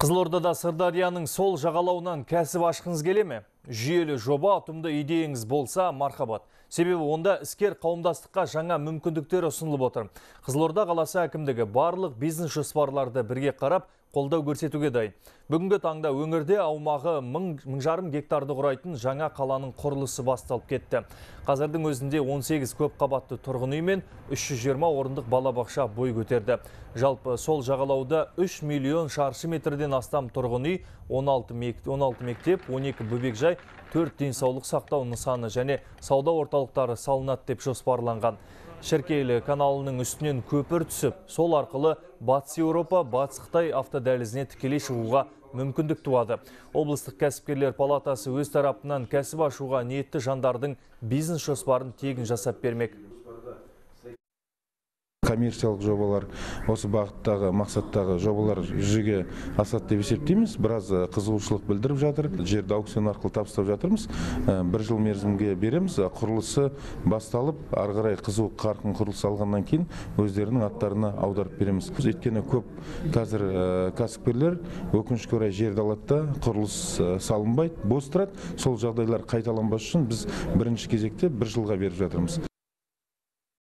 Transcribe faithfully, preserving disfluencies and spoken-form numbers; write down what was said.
Қызылордада Сырдарияның сол жағалауынан кәсіп ашқыңыз келе ме? Жүйелі жоба, ұтымды идеяңыз болса, мархабат. Себебі онда іскер қауымдастыққа жаңа мүмкіндіктер ұсынылып отыр. Қызылорда қаласы әкімдігі барлық бизнес жоспарларды бірге қарап, қолдау көрсетуге дайын. Бүгінгі таңда өңірде аумағы мың жарым гектарды құрайтын жаңа қаланың құрылысы басталып кетті. Қазірдің өзінде он сегіз көп қабатты тұрғын үй мен үш жүз жиырма орындық балабақша бой көтерді. Жалпы сол жағалауда үш миллион шаршы метрден астам тұрғын үй, он алты мектеп, он екі бөбекжай, төрт денсаулық сақтау нысаны және сауда орталықтары салынады деп жоспарланған. Шіркейлі каналының үстінен көпір түсіп, сол арқылы Батыс Еуропа, Батыс Қытай автодәлізіне тікелей шығуға мүмкіндік туады. Облыстық кәсіпкерлер палатасы өз тарапынан кәсіп ашуға ниетті жандардың бизнес жоспарын тегін жасап бермек. Коммерциялық жобалар, осы бағыттағы мақсаттағы жобалар жүзеге асады деп есептейміз. Біраз қызығушылық білдіріп жатыр. Жерді аукцион арқылы табыстап жатырмыз. Бір жыл мерзімге береміз. Құрылысы басталып, ары қарай қызу қарқын құрылыс алғаннан кейін өздерінің аттарына аударып береміз. Өйткені көп қазір кәсіпкерлер өкінішке орай жерді алады да құрылыс салынбайды, бос тұрады. Сол жағдайлар қайталанбас үшін біз бірінші кезекте бір жылға беріп жатырмыз.